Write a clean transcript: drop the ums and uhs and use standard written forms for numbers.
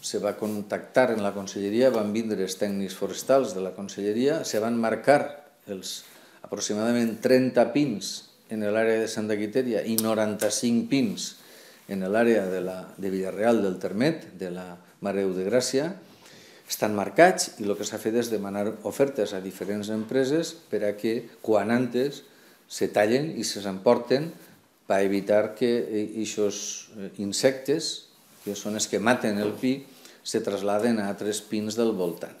se va contactar en la conselleria, van vindre els tècnics forestals de la conselleria, se van marcar els aproximadament 30 pins en l'àrea de Santa Quitèria i 95 pins en l'àrea de Villarreal del Termet, de la Mare Déu de Gràcia. Estan marcats i el que s'ha fet és demanar ofertes a diferents empreses per a que quan antes se tallen i s'emporten per evitar que aquests insectes, que són els que maten el pi, se traslladen a altres pins del voltant.